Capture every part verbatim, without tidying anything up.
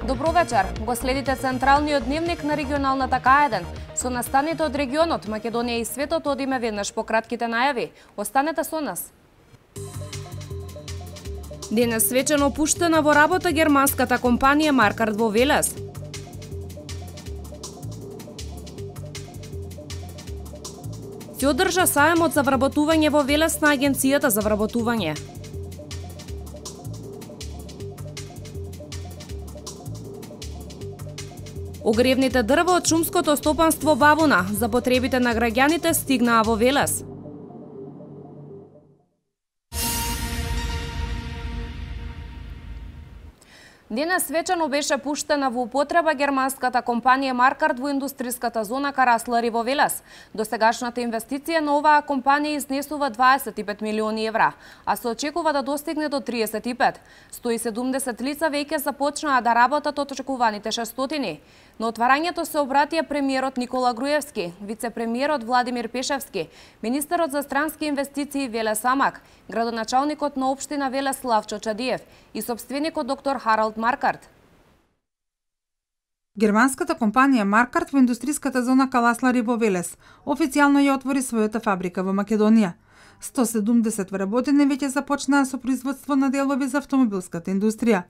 Добро вечер. Го следите централниот дневник на регионалната К еден. Со настаните од регионот, Македонија и светот одиме веднаш по кратките најави. Останете со нас. Денес свечено пуштена во работа германската компанија Маркарт во Велес. Се одржа саемот за вработување во Велес на Агенцијата за вработување. Огревните дрва од шумското стопанство Бабуна за потребите на граѓаните стигнаа во Велес. Денес свечено беше пуштена во употреба германската компанија Маркарт во индустријската зона Караслари во Велес. Досегашната инвестиција на оваа компанија изнесува дваесет и пет милиони евра, а се очекува да достигне до триесет и пет. сто и седумдесет лица веќе започнаа да работат од очекуваните шестстотини. На отварањето се обратија премиерот Никола Груевски, вице-премиерот Владимир Пешевски, министерот за странски инвестиции Веле Самак, градоначалникот на општина Велес Славчо Чадиев и собственикот доктор Харалд Маркарт. Германската компанија Маркарт во индустријската зона Каласлари во Велес официјално ја отвори својата фабрика во Македонија. сто и седумдесет вработени веќе започнаа со производство на делови за автомобилската индустрија.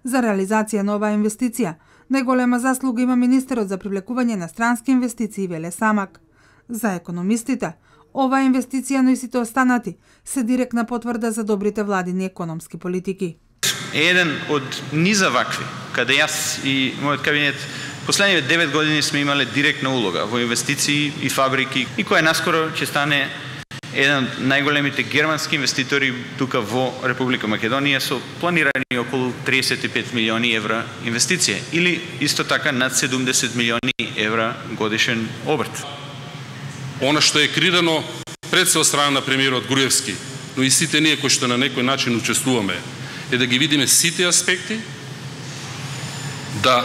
За реализација на оваа инвестиција, најголема заслуга има министерот за привлекување на странски инвестиции Веле Самак. За економистите, оваа инвестиција, но и сите останати, се директна потврда за добрите владини економски политики. Еден од низа вакви, каде јас и мојот кабинет последниве девет години сме имале директна улога во инвестиции и фабрики, и која наскоро ќе стане еден од најголемите германски инвеститори тука во Република Македонија со планирани околу триесет и пет милиони евра инвестиција или исто така над седумдесет милиони евра годишен обрт. Она што е крирано пред се од страна на премиерот Груевски, но и сите ние кои што на некој начин учествуваме, е да ги видиме сите аспекти, да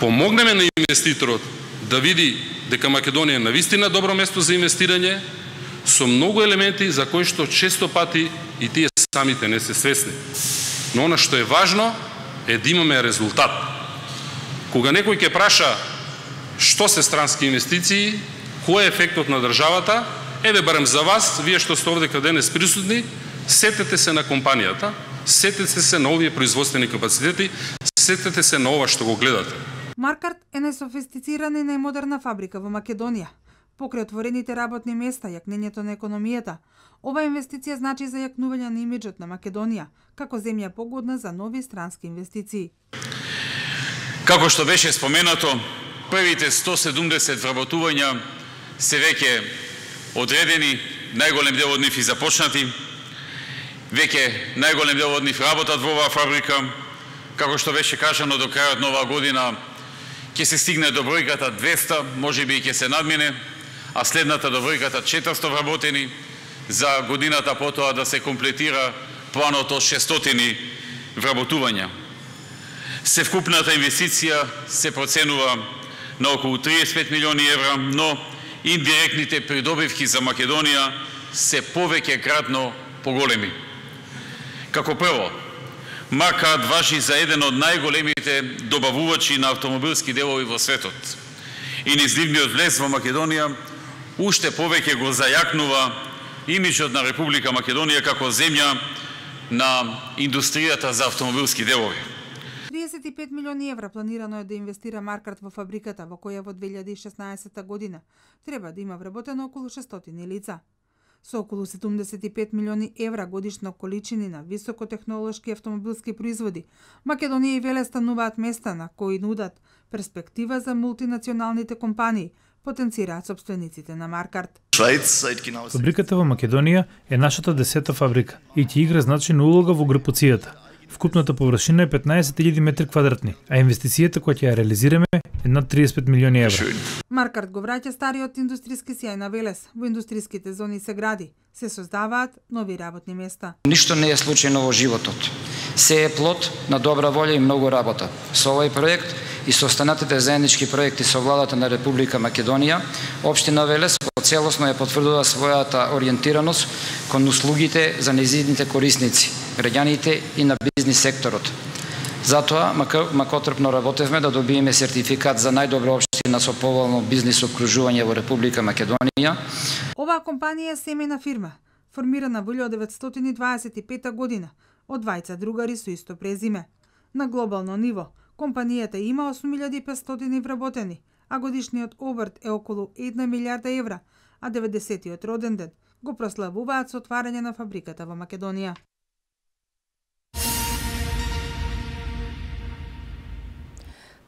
помогнеме на инвеститорот да види дека Македонија е навистина добро место за инвестирање, со многу елементи за кои што често пати и тие самите не се свесни. Но она што е важно е да имаме резултат. Кога некој ќе праша што се странски инвестиции, кој е ефектот на државата, еве барем за вас, вие што сте овде каде денес присутни, сетете се на компанијата, сетете се на овие производствени капацитети, сетете се на ова што го гледате. Маркарт е најсофистицирана и најмодерна фабрика во Македонија. Покрај отворените работни места, јакнењето на економијата, ова инвестиција значи за јакнување на имиџот на Македонија, како земја погодна за нови странски инвестиции. Како што беше споменато, првите сто и седумдесет вработувања се веќе одредени, најголем дел од нив и започнати. Веќе најголем дел од нив работат во оваа фабрика. Како што беше кажано, до крајот на оваа година ќе се стигне до бројката двеста, можеби и ќе се надмине, а следната до бројката четиристо вработени, за годината потоа да се комплетира планот од шестстотини вработувања. Севкупната инвестиција се проценува на околу триесет и пет милиони евра, но индиректните придобивки за Македонија се повеќе кратно поголеми. Како прво, Маркарт важи за еден од најголемите добавувачи на автомобилски делови во светот. И низнивниот влез во Македонија уште повеќе го зајакнува имиџот на Република Македонија како земја на индустријата за автомобилски делови. триесет и пет милиони евра планирано е да инвестира Маркарт во фабриката, во која во две илјади и шеснаесетта година треба да има вработено околу шестстотини лица. Со околу седумдесет и пет милиони евра годишно количини на високотехнолошки автомобилски производи, Македонија и Велес стануваат места на кои нудат перспектива за мултинационалните компании, потенцираат собствениците на Маркарт. Фабриката во Македонија е нашата десета фабрика и ќе игра значајна улога во групацијата. Вкупната површина е петнаесет илјади метри квадратни, а инвестицијата која ќе ја реализираме е над триесет и пет милиони евра. Маркарт го враќа стариот индустријски сјај на Велес. Во индустријските зони се гради, се создаваат нови работни места. Ништо не е случајно во животот. Се е плод на добра волја и многу работа. Со овој проект и со останатите заеднички проекти со владата на Република Македонија, општина Велес во целосно ја потврдува својата ориентираност кон услугите за нејзините корисници, граѓаните и на бизнис секторот. Затоа, макотрпно работевме да добиеме сертификат за најдобра општина со поволно бизнис обкружување во Република Македонија. Оваа компанија е семејна фирма, формирана во илјадесетстотини дваесет и пета година од двајца другари со исто презиме. На глобално ниво, компанијата има осум илјади и петстотини вработени, а годишниот обрт е околу една милијарда евра, а деветдесетиот роден ден го прославуваат со отварање на фабриката во Македонија.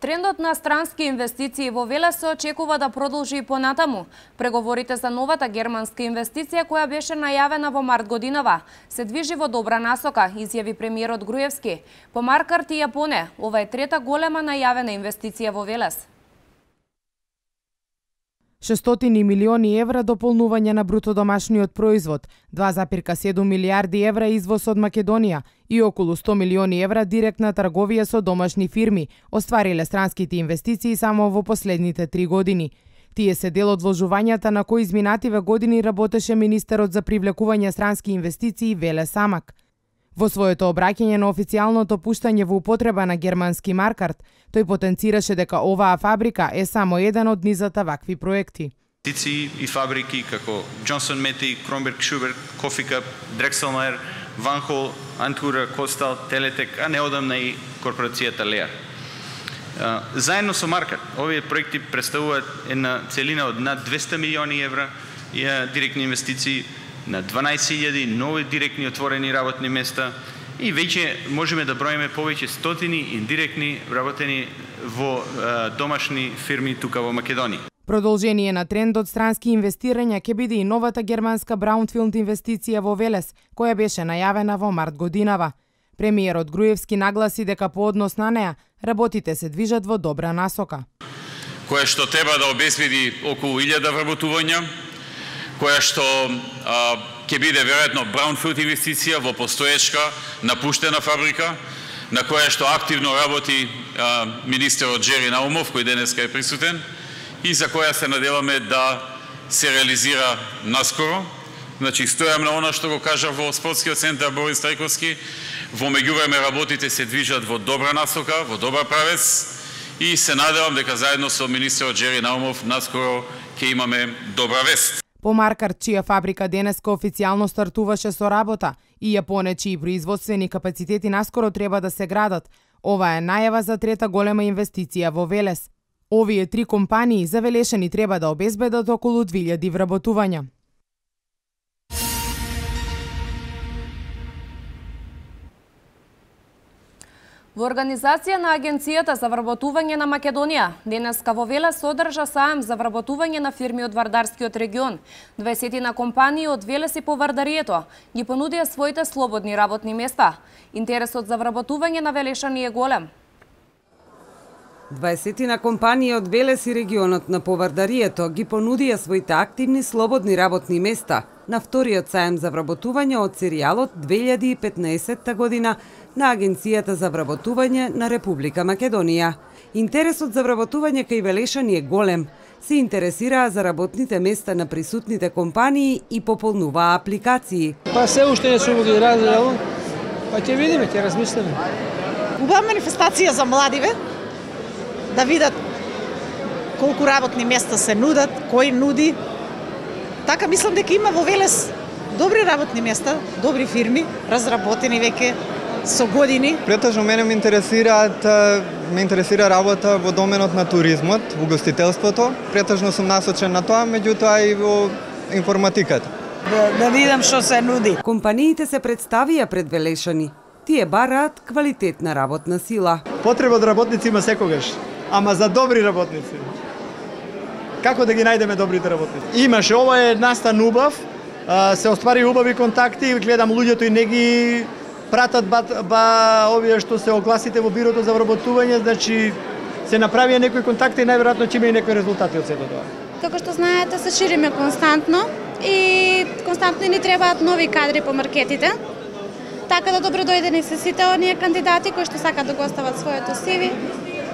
Трендот на странски инвестиции во Велес се очекува да продолжи и понатаму. Преговорите за новата германска инвестиција која беше најавена во март годинава се движи во добра насока, изјави премиерот Груевски. По Маркарт и Јапоне, ова е трета голема најавена инвестиција во Велес. шестстотини милиони евра дополнување на бруто домашниот производ, два зарез седум милијарди евра извоз од Македонија и околу сто милиони евра директна трговија со домашни фирми оствариле странските инвестиции само во последните три години. Тие се дел од вложувањата на кои изминативе години работеше министерот за привлекување странски инвестиции Веле Самак. Во своето обраќање на официјалното пуштање во употреба на германски Маркарт, тој потенцираше дека оваа фабрика е само еден од низата вакви проекти. Инвестиции и фабрики како Джонсон Мети, Кромберг Шуберг, Кофика, Дрекселмайер, Ванхол, Антура, Костал, Телетек, а неодамна и корпорацијата Леар. Заедно со Маркарт, овие проекти представуваат една целина од над двесте милиони евра и директни инвестиции, на дванаесет илјади нови директни отворени работни места и веќе можеме да броиме повеќе стотини индиректни вработени во е, домашни фирми тука во Македонија. Продолжение на трендот странски инвестирања ќе биде и новата германска браунфилд инвестиција во Велес, која беше најавена во март годинава. Премиерот Груевски нагласи дека по однос на неа работите се движат во добра насока. Која што треба да обезбеди околу илјада вработувања, која што а, ќе биде веројатно браунфилд инвестиција во постоечка напуштена фабрика, на која што активно работи а, министерот Джери Наумов, кој денеска е присутен, и за која се надеваме да се реализира наскоро. Значи, стојам на она што го кажа во спортскиот центар Борис Трајковски, во меѓувреме работите се движат во добра насока, во добар правец и се надевам дека заедно со министерот Джери Наумов наскоро ќе имаме добра вест. По Маркарт, чија фабрика денеска официјално стартуваше со работа, и Јапоне, чии производствени капацитети наскоро треба да се градат, ова е најава за трета голема инвестиција во Велес. Овие три компании завелешени треба да обезбедат околу две илјади вработувања. Во организација на Агенцијата за вработување на Македонија, денеска во Велес се одржа саем за вработување на фирми од Вардарскиот регион. дваесет компании од Велес и по Вардарието ги понудија своите слободни работни места. Интересот за вработување на велешани е голем. дваесет компании од Велес и регионот на Повардарието ги понудија своите активни слободни работни места на вториот саем за вработување од серијалот две илјади и петнаесетта година на Агенцијата за вработување на Република Македонија. Интересот за вработување кај велешани е голем. Се интересираа за работните места на присутните компании и пополнуваа апликации. Па се уште не сум ги разгледал, па ќе видиме, ќе размислиме. Убава манифестација за младиве, да видат колку работни места се нудат, кој нуди. Така мислам дека има во Велес добри работни места, добри фирми, разработени веќе со години. Претежно мене ме интересираат, ме интересира работа во доменот на туризмот, во угостителството. Претежно сум насочен на тоа, меѓутоа и во информатиката. Да, да видам што се нуди. Компаниите се представија пред велешани. Тие бараат квалитетна работна сила. Потреба од работници има секогаш, ама за добри работници. Како да ги најдеме добрите работници? Имаше, ова е настан убав, се оствари убави контакти, гледам луѓето и не ги пратат ба, ба овие што се огласите во бирото за вработување, значи се направија некои контакти и најверојатно ќе има и некои резултати од сето тоа. Како што знаете, се шириме константно и константно ни требаат нови кадри по маркетите. Така да добро дојдени се сите оние кандидати кои што сакаат да го остават своето си ви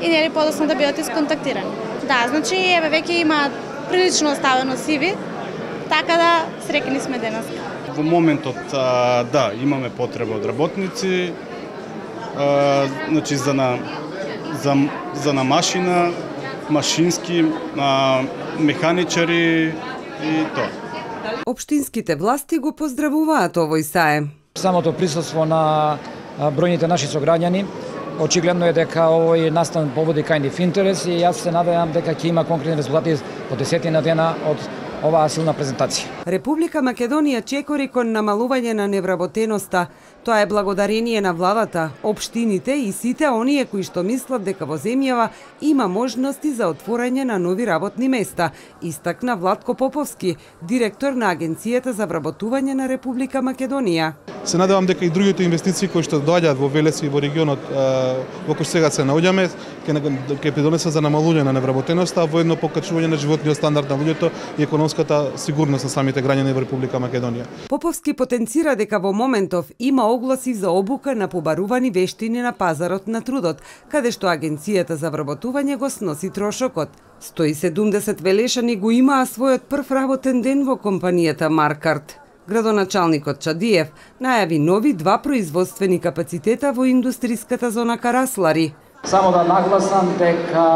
и нели подоцна да бидат исконтактирани. Да, значи еве веќе има прилично оставено си ви така да среќни сме денес. Во моментот, а, да, имаме потреба од работници, а, значи за на за за на машина, машински, а, механичари и тоа. Општинските власти го поздравуваат овој саем. Самото присуство на бројните наши сограѓани очигледно е дека овој настан поводи кај нив интерес и јас се надевам дека ќе има конкретни резултати по десетина дена од оваа силна презентација. Република Македонија чекори кон намалување на невработеноста. Тоа е благодарение на владата, општините и сите оние кои што мислат дека во земјава има можности за отворање на нови работни места, истакна Владко Поповски, директор на Агенцијата за вработување на Република Македонија. Се надевам дека и другите инвестиции кои што доаѓаат во Велес и во регионот во кој сега се наоѓаме ќе ќе придонесат за намалување на невработеноста, во едно покачување на животниот стандард на луѓето и економската сигурност на самите граѓани во Република Македонија. Поповски потенцира дека во моментов има огласи за обука на побарувани вештини на пазарот на трудот, каде што Агенцијата за вработување го сноси трошокот. сто и седумдесет велешани го имаа својот прв работен ден во компанијата Маркарт. Градоначалникот Чадиев најави нови два производствени капацитета во индустриската зона Караслари. Само да нагласам дека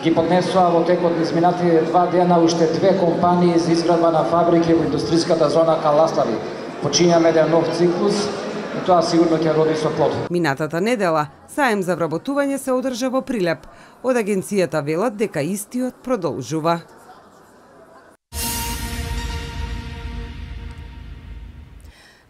ги поднесува во текот на изминатите два дена уште две компании за изградба на фабрики во индустриската зона Караслари. Почињаме еден нов циклус и тоа сигурно ќе роди со плод. Минатата недела саем за вработување се одржа во Прилеп. Од агенцијата велат дека истиот продолжува.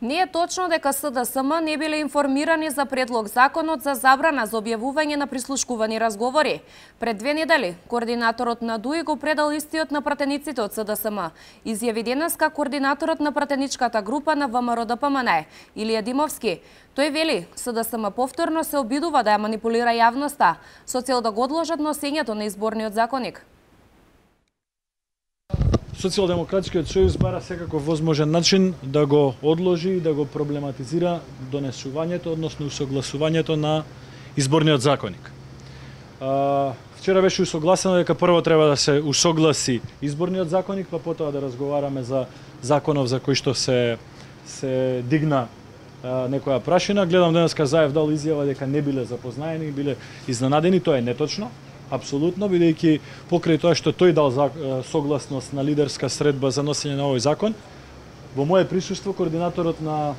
Не е точно дека СДСМ не биле информирани за предлог законот за забрана за објавување на прислушкувани разговори. Пред две недели, координаторот на ДУИ го предал истиот на пратениците од СДСМ. Изјави денеска координаторот на пратеничката група на ВМРО Д П М Н, Илија Димовски. Тој вели, СДСМ повторно се обидува да ја манипулира јавноста, со цел да го одложат носењето на изборниот законик. Социјалдемократскиот сојуз бара секаков возможен начин да го одложи и да го проблематизира донесувањето, односно усогласувањето на изборниот законик. Вчера беше усогласено дека прво треба да се усогласи изборниот законик, па потоа да разговараме за законов за кој што се се дигна а, некоја прашина. Гледам денеска Заев дал изјава дека не биле запознаени, биле изненадени, тоа е неточно. Апсолутно, бидејќи покрај тоа што тој дал согласност на лидерска средба за носење на овој закон, во мое присуство координаторот на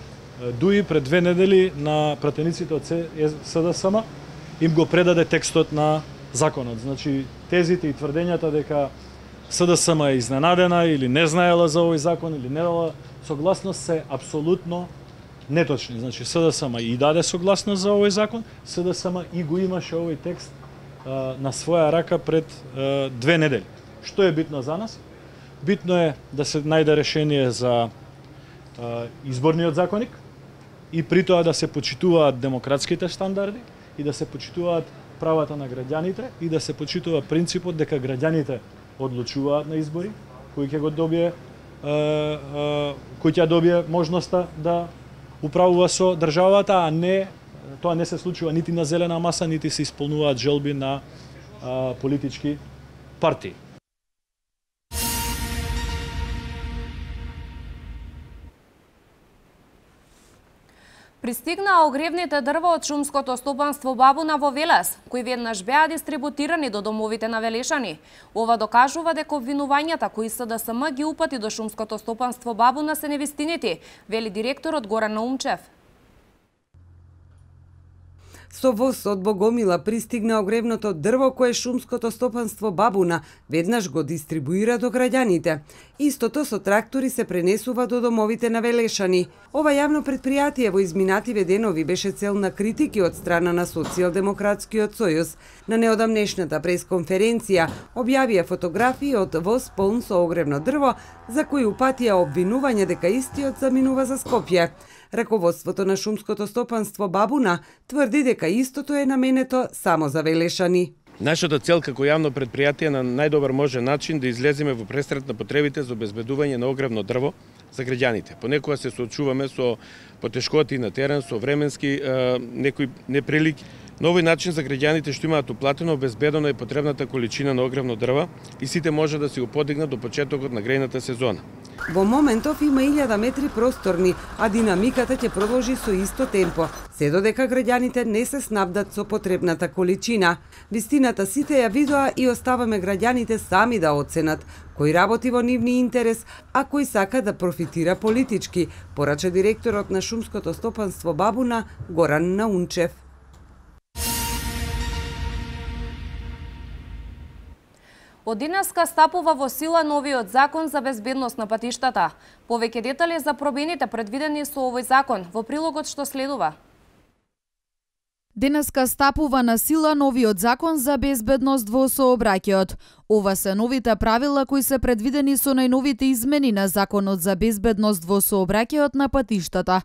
ДУИ пред две недели на пратениците од СДСМ им го предаде текстот на законот. Значи, тезите и тврдењата дека СДСМ е изненадена или не знаела за овој закон или не дала согласност се апсолутно неточни. Значи, СДСМ и даде согласност за овој закон, СДСМ и го имаше овој текст на своја рака пред uh, две недели. Што е битно за нас? Битно е да се најде решение за uh, изборниот законик и при тоа да се почитуваат демократските стандарди и да се почитуваат правата на граѓаните и да се почитува принципот дека граѓаните одлучуваат на избори, кој ќе го добие uh, uh, кој ќе добие можноста да управува со државата, а не тоа не се случува нити на зелена маса, нити се исполнуваат желби на а, политички партии. Пристигнаа огревните дрва од шумското стопанство Бабуна во Велес, кои веднаш беа дистрибутирани до домовите на велешани. Ова докажува дека обвинувањата кои СДСМ ги упати до шумското стопанство Бабуна се невистинити, вели директорот Горан Наумчев. Со воз од Богомила пристигна огревното дрво кое шумското стопанство Бабуна веднаш го дистрибуира до граѓаните. Истото со трактори се пренесува до домовите на велешани. Ова јавно предпријатие во изминативе денови беше цел на критики од страна на Социјалдемократскиот сојуз. На неодамнешната пресконференција објавија фотографии од воз полн со огревно дрво, за кои упатија обвинување дека истиот заминува за Скопје. Раководството на шумското стопанство Бабуна тврди дека истото е наменето само за велешани. Нашата цел како јавно предпријатие на најдобар можен начин да излеземе во престрет на потребите за обезбедување на огревно дрво за граѓаните. Понекогаш се соочуваме со потешкоти на терен, со временски е, некои неприлики, На овој начин за граѓаните што имаат уплатено обезбедено е потребната количина на огревно дрво и сите може да си го подигнат до почетокот на грејната сезона. Во моментов има илјада метри просторни, а динамиката ќе продолжи со исто темпо, се додека граѓаните не се снабдат со потребната количина. Вистината сите ја видоа и оставаме граѓаните сами да оценат кој работи во нивни интерес, а кој сака да профитира политички, порача директорот на шумското стопанство Бабуна Горан Наунчев. Од денеска стапува во сила новиот закон за безбедност на патиштата. Повеќе детали за промените предвидени со овој закон во прилогот што следува. Денеска стапува на сила новиот закон за безбедност во сообраќајот. Ова се новите правила кои се предвидени со најновите измени на законот за безбедност во сообраќајот на патиштата.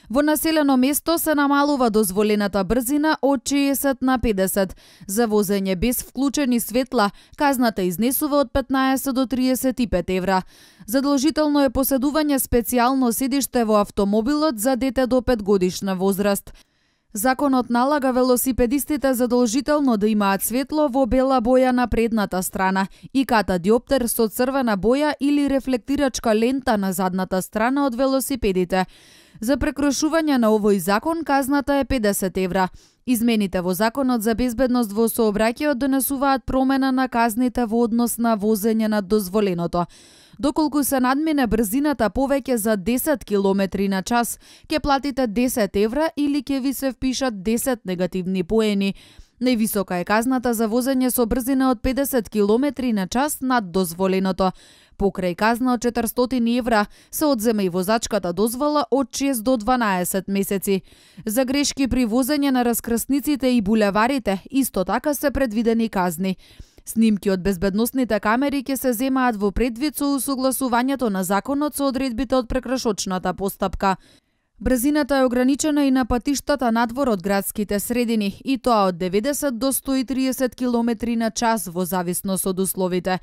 Во населено место се намалува дозволената брзина од шеесет на педесет. За возење без вклучени светла, казната изнесува од петнаесет до триесет и пет евра. Задолжително е поседување специјално седиште во автомобилот за дете до пет годишна возраст. Законот налага велосипедистите задолжително да имаат светло во бела боја на предната страна и ката-диоптер со црвена боја или рефлектирачка лента на задната страна од велосипедите. За прекрушување на овој закон казната е педесет евра. Измените во законот за безбедност во сообраќајот донесуваат промена на казните во однос на возење над дозволеното. Доколку се надмине брзината повеќе за десет километри на час, ќе платите десет евра или ќе ви се впишат десет негативни поени. Највисока е казната за возење со брзина од педесет километри на час над дозволеното. Покрај казна од четиристотини евра се одзема и возачката дозвола од шест до дванаесет месеци. За грешки при возење на раскрсниците и булеварите исто така се предвидени казни. Снимки од безбедносните камери ќе се земаат во предвид со усогласувањето на законот со одредбите од прекршочната постапка. Брзината е ограничена и на патиштата надвор од градските средини, и тоа од деветдесет до сто и триесет километри на час во зависност од условите.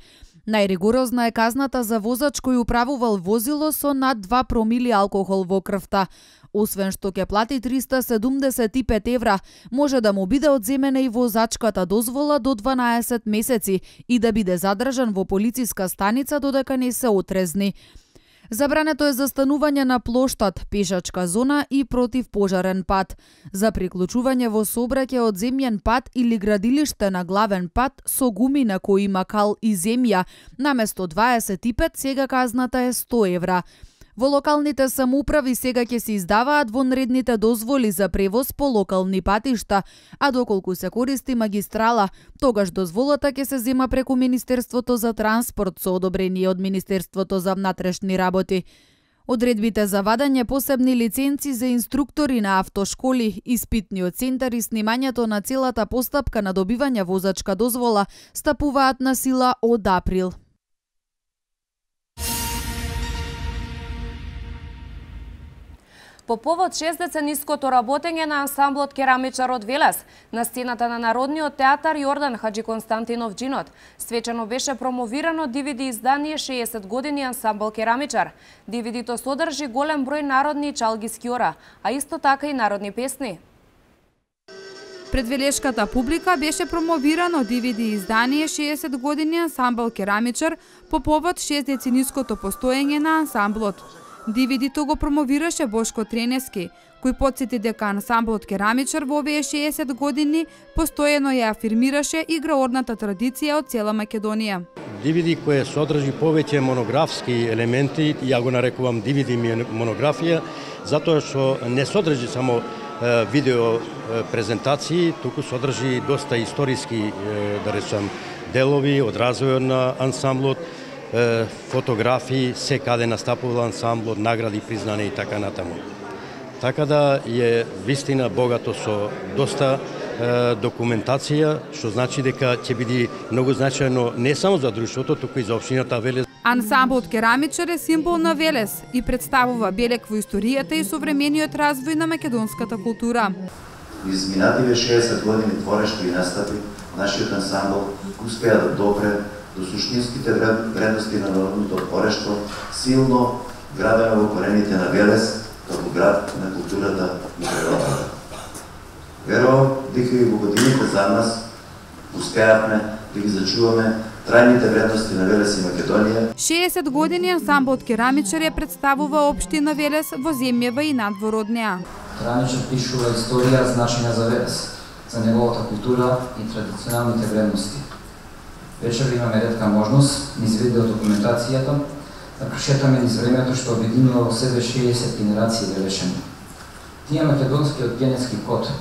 Најригорозна е казната за возач кој управувал возило со над два промили алкохол во крвта. Освен што ќе плати триста седумдесет и пет евра, може да му биде одземена и возачката дозвола до дванаесет месеци и да биде задржан во полициска станица додека не се отрезни. Забрането е застанување на плоштад, пешачка зона и противпожарен пат. За приклучување во сообраќај од земјен пат или градилиште на главен пат со гуми на кои има кал и земја, наместо дваесет и пет сега казната е сто евра. Во локалните самоуправи сега ќе се издаваат вонредните дозволи за превоз по локални патишта, а доколку се користи магистрала, тогаш дозволата ќе се зема преку Министерството за транспорт со одобрение од Министерството за внатрешни работи. Одредбите за вадање посебни лиценци за инструктори на автошколи, испитниот центар и снимањето на целата постапка на добивање возачка дозвола стапуваат на сила од април. По повод шестдецениското работење на ансамблот Керамичар од Велес, на сцената на Народниот театар Јордан Хаджи Константинов Джинот, свечено беше промовирано ди ви ди издание шеесет години ансамбл Керамичар. ди ви ди-то содржи голем број народни и чалги скиора, а исто така и народни песни. Пред велешката публика беше промовирано ди ви ди издание шеесет години ансамбл Керамичар по повод шестдецениското постоење на ансамблот. ди ви ди-то го промовираше Бошко Тренески, кој потсети дека ансамблот Керамичар во овие шеесет години постојано ја афирмираше играорната традиција од цела Македонија. ди ви ди кој содржи повеќе монографски елементи, ја го нарекувам ди ви ди монографија, затоа што не содржи само видео презентации, туку содржи доста историски, да речам, делови од развојот на ансамблот, фотографии, се каде настапувал ансамблот, награди, признани и така натаму. Така да е вистина богато со доста е, документација, што значи дека ќе биде многу значајно не само за друштвото, туку и за општината Велес. Ансамблот Керамичар е символ на Велес и представува белег во историјата и современиот развој на македонската култура. Изминативе шеесет години творечки настапи, нашиот ансамбл успеа да допре до суштинските вредности на народното творештво, силно градено во корените на Велес, како град на културата и природата. Верувам дека и во годините за нас успеавме да ги зачуваме трајните вредности на Велес и Македонија. шеесет години ансамблот Керамичар ја представува општина Велес во земјава и надвор од неа. Керамичар пишува историја значајна за Велес, за неговата култура и традиционалните вредности. Вечер имаме ретка можност, низ видео документацијата, да прошетаме низ времето што обединува во себе шеесет генерации велешани. Тие македонскиот генетски код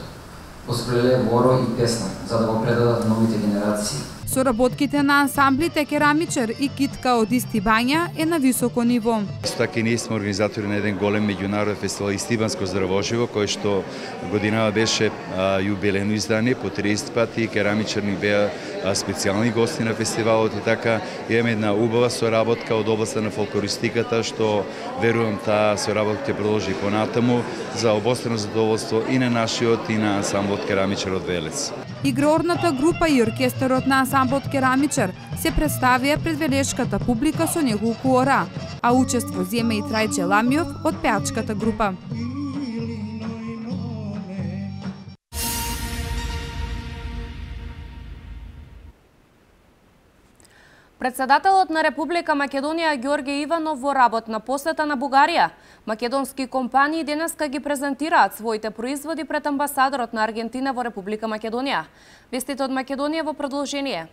поспреле воро и песна, за да го предадат новите генерации. Соработките на ансамблите Керамичар и Китка од Исти Бања е на високо ниво. Исто така и ние сме организатори на еден голем меѓународен фестивал Истиванско здравоживо, кој што годинава беше а, јубилејно издание по триесет пати. Керамичар ни беа а, специјални гости на фестивалот и така имаме една убава соработка од областа на фолклористиката, што верувам таа соработка ќе продолжи понатаму за обострано задоволство и на нашиот и на ансамблот Керамичар од Велес. Игрорната група и оркестарот на ансамблот Керамичар се представија пред велешката публика со неколку ора, а учество зема и Трајче Ламиов од пеачката група. Председателот на Република Македонија Ѓорѓе Иванов во работна посета на Бугарија. Македонски компании денеска ги презентираат своите производи пред амбасадорот на Аргентина во Република Македонија. Вестите од Македонија во продолжение.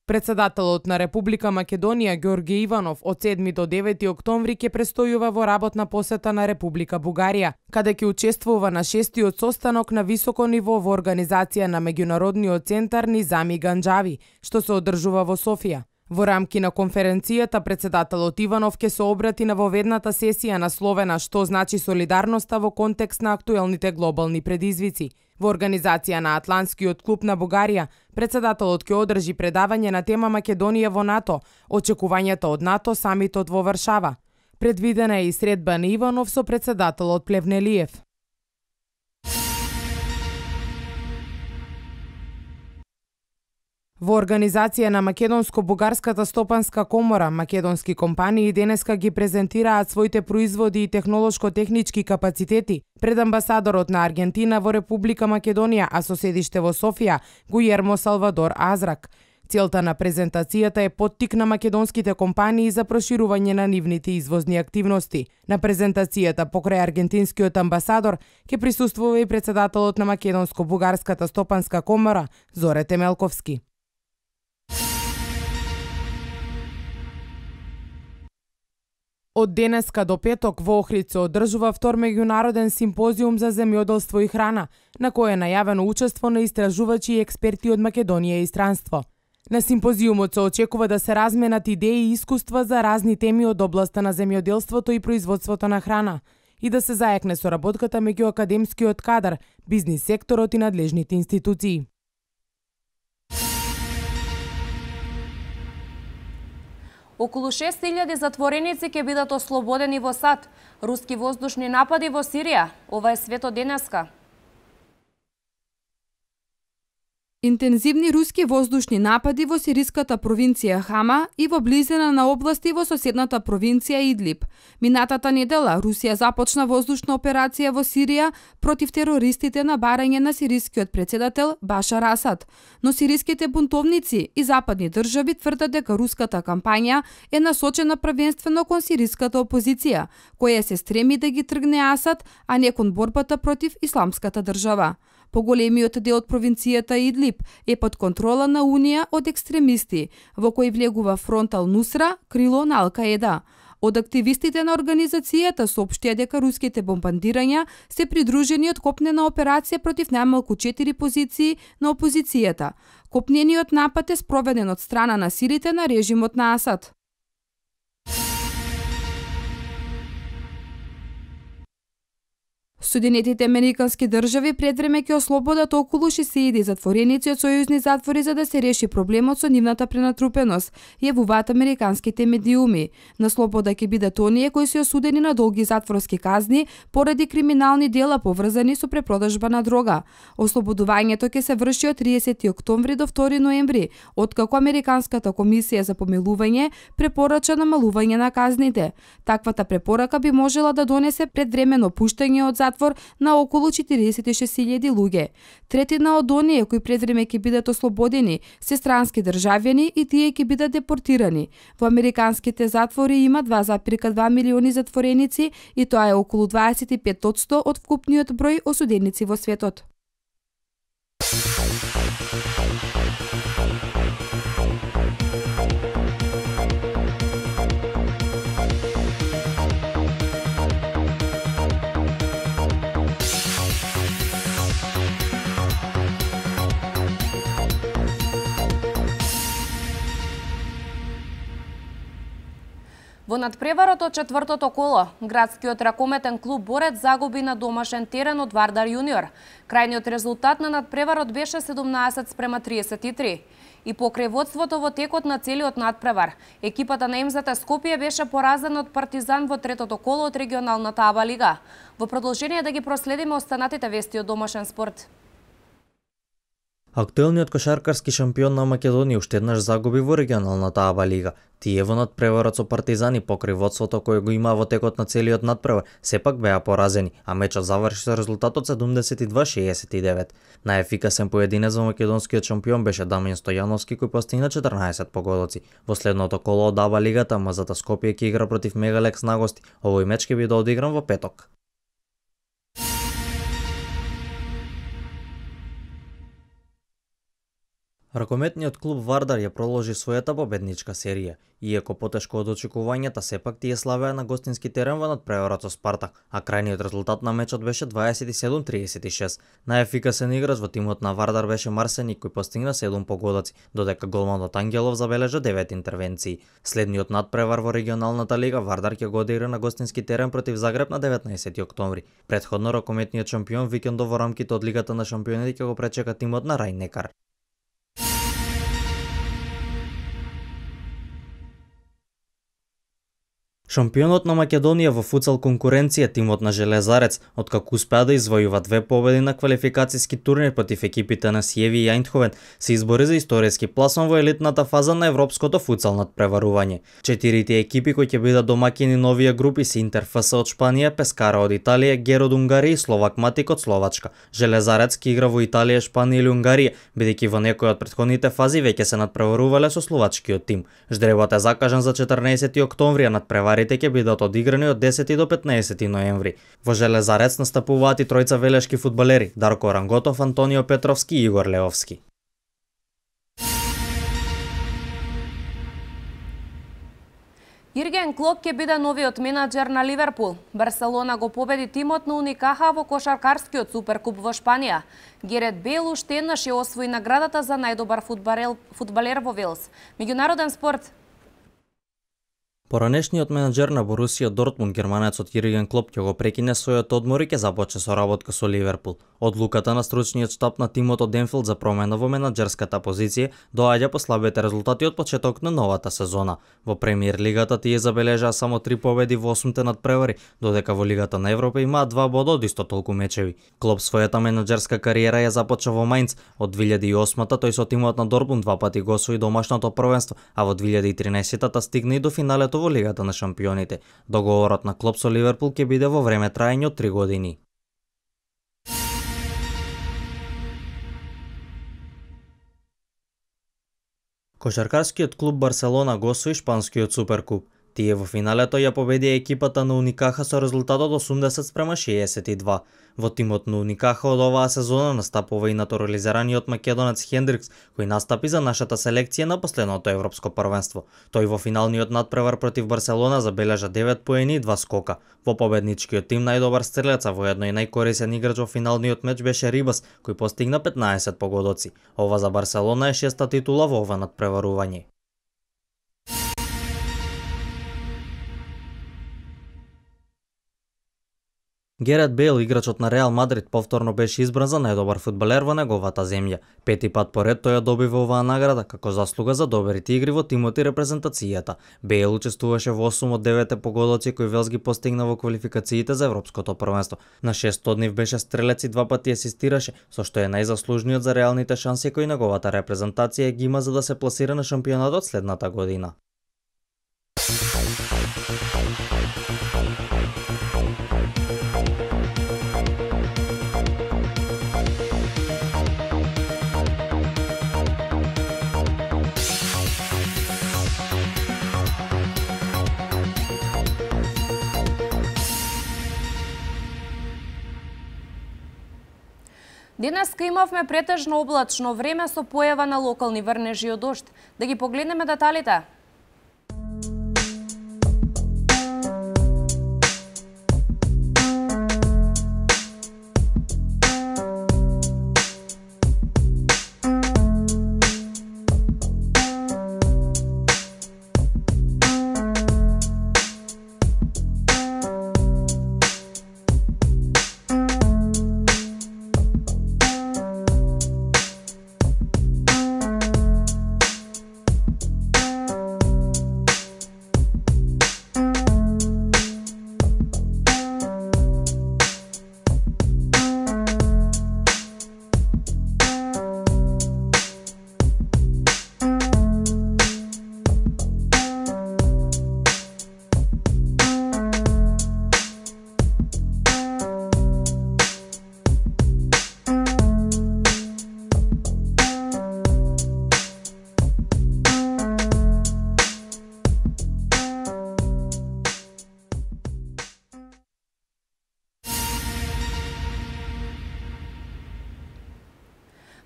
Председателот на Република Македонија Ѓорѓе Иванов од седми до девети октомври ќе престојува во работна посета на Република Бугарија, каде ќе учествува на шестиот состанок на високо ниво во организација на Меѓународниот центар Низами Ганџави, што се одржува во Софија. Во рамки на конференцијата, председателот Иванов ќе се обрати на воведната сесија насловена «Што значи солидарноста во контекст на актуелните глобални предизвици». Во организација на Атлантскиот клуб на Бугарија, председателот ќе одржи предавање на тема Македонија во НАТО, очекувањата од НАТО самитот во Варшава. Предвидена е и средба на Иванов со председателот Плевнелиев. Во организација на Македонско-бугарската стопанска комора, македонски компании денеска ги презентираат своите производи и технолошко-технички капацитети пред амбасадорот на Аргентина во Република Македонија, а со седиште во Софија, Гујермо Салвадор Азрак. Целта на презентацијата е поттик на македонските компании за проширување на нивните извозни активности. На презентацијата покрај аргентинскиот амбасадор ќе присуствува и председателот на Македонско-бугарската стопанска комора Зоре Темелковски. Од денеска до петок во Охрид се одржува втор меѓународен симпозиум за земјоделство и храна, на кој е најавено учество на истражувачи и експерти од Македонија и странство. На симпозиумот се очекува да се разменат идеи и искуства за разни теми од областа на земјоделството и производството на храна и да се заекне соработката меѓу академскиот кадар, бизнис секторот и надлежните институции. Околу шест илјади затвореници ќе бидат ослободени во САД. Руски воздушни напади во Сирија. Ова е свето денеска. Интензивни руски воздушни напади во сириската провинција Хама и во близина на области во соседната провинција Идлиб. Минатата недела Русија започна воздушна операција во Сирија против терористите на барање на сирискиот председател Башар Асад. Но сириските бунтовници и западни држави тврдат дека руската кампања е насочена првенствено кон сириската опозиција, која се стреми да ги тргне Асад, а не кон борбата против исламската држава. Поголемиот дел од провинцијата Идлиб е под контрола на Унија од екстремисти, во кој влегува фронт Ал-Нусра, крило на Ал-Каеда. Од активистите на организацијата соопштија дека руските бомбардирања се придружени од копнена операција против најмалку четири позиции на опозицијата. Копнениот напад е спроведен од страна на силите на режимот на Асад. Соединетите американски држави пред време ќе ослободат околу шест илјади затвореници од сојузни затвори за да се реши проблемот со нивната пренатрупеност, јавуваат американските медиуми. На слобода ќе бидат оние кои се осудени на долги затворски казни поради криминални дела поврзани со препродажба на дрога. Ослободувањето ќе се врши од триесети октомври до втори ноември, откако Американската комисија за помилување препорача намалување на казните. Таквата препорака би можела да донесе предвремено пуштање од затвор затвор на околу четириесет и шест илјади луѓе. Третина од оние кои пред време ќе бидат ослободени се странски државјани и тие ќе бидат депортирани. Во американските затвори има два запирка два милиони затвореници и тоа е околу дваесет и пет одсто од вкупниот број осуденици во светот. Во надпреварот од четвртото коло, градскиот ракометен клуб Борец загуби на домашен терен од Вардар Јуниор. Крајниот резултат на надпреварот беше седумнаесет спрема триесет и три. И покрај водството во текот на целиот надпревар, екипата на МЗТ Скопје беше поразена од Партизан во третото коло од регионалната АБА лига. Во продолжение да ги проследиме останатите вести од домашен спорт. Актуелниот кошаркарски шампион на Македонија уште еднаш загуби во регионалната АБА лига. Тие во надпреварот со Партизани покрај водството кој го има во текот на целиот надпревар сепак беа поразени, а мечот заврши со резултатот седумдесет и два шеесет и девет. Најефикасен поединец во македонскиот шампион беше Дамјан Стојановски кој постигна четрнаесет погодоци. Во следното коло од АБА лигата МЗТ Скопје ќе игра против Мегалекс на гости. Овој меч ќе биде одигран во петок. Ракометниот клуб Вардар ја проложи својата победничка серија. Иако потешко од очекувањата, сепак тие славеа на гостински терен во надпреварот со Спартак, а крајниот резултат на мечот беше дваесет и седум триесет и шест. Најефикасен играч во тимот на Вардар беше Марсеник кој постигна седум погодоци, додека голманот Ангелов забележа девет интервенции. Следниот надпревар во регионалната лига Вардар ќе го одигра на гостински терен против Загреб на деветнаесети октомври. Претходно ракометниот шампион викендов во рамките од Лигата на шампионите ќе го пречека тимот на Рајн Некар. Шампионот на Македонија во футсал конкуренција, тимот на Железарец, откако успеа да извојува две победи на квалификацијски турнир против екипите на Сиеви и Ајндховен, се избори за историски пласман во елитната фаза на европското футсал надпреварување. Четирите екипи кои ќе бидат домаќини на овие групи се Интер ФС од Шпанија, Пескара од Италија, Гер од Унгарија и Словак Матик од Словачка. Железарец ќе игра во Италија, Шпанија или Унгарија, бидејќи во некои од претходните фази веќе се надпреварувале со словачкиот тим. Ждребот е закажан за четрнаесети октомври, а надпреварите ќе бидат одиграни од десети до петнаесети ноември. Во Железарец настапуваат и тројца велешки фудбалери: Дарко Ранготов, Антонио Петровски и Игор Леовски. Јерген Клоп ќе биде новиот менаџер на Ливерпул. Барселона го победи тимот на Уникаха во кошаркарскиот суперкуп во Шпанија. Герет Бейл уште еднаш ја освои наградата за најдобар фудбалер во Велс. Меѓународен спорт. Поранешниот менаџер на Борусија Дортмунд, германецот Јерген Клоп, ќе го прекине својот одмор и ќе започне со работка со Ливерпул. Одлуката на стручниот штаб на тимот од Енфилд за промена во менаџерската позиција доаѓа по слабите резултати од почеток на новата сезона. Во Премиер лигата тие забележаа само три победи во осумте надпревари, додека во Лигата на Европа имаат два бода од исто толку мечеви. Клоп својата менаџерска кариера ја започна во Мајнц. Од две илјади и осмата тој со тимот на Дортмунд два пати го освои домашното првенство, а во две илјади и тринаесетта стигна и до финалето во Лигата на шампионите. Договорот на Клоп со Ливерпул ќе биде во време траење од три години. Кошаркарскиот клуб Барселона го освои шпанскиот суперкуп. Тие во финалето ја победија екипата на Уникаха со резултатот осумдесет спрема шеесет и два. Во тимот на Уникаха од оваа сезона настапува и натурализираниот македонец Хендрикс, кој настапи за нашата селекција на последното европско првенство. Тој во финалниот надпревар против Барселона забележа девет поени и два скока. Во победничкиот тим најдобар стрелец, а воедно и најкорисен играч во финалниот меч беше Рибас, кој постигна петнаесет погодоци. Ова за Барселона е шеста титула во ова надпреварување. Герет Бейл, играчот на Реал Мадрид, повторно беше избран за најдобар фудбалер во неговата земја. Пети пат поред тој ја добива оваа награда како заслуга за добрите игри во тимот и репрезентацијата. Бейл учествуваше во осум од деветте погодоци кои Велс ги постигна во квалификациите за европското првенство. На шестоднев беше стрелец и два пати асистираше, со што е најзаслужниот за реалните шанси кои неговата репрезентација ги има за да се пласира на шампионатот следната година. Денеска имавме претежно облачно време со појава на локални врнежи од дожд. Да ги погледнеме деталите.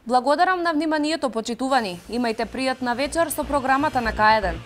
Благодарам на вниманието, почитувани. Имајте пријатна вечер со програмата на К еден.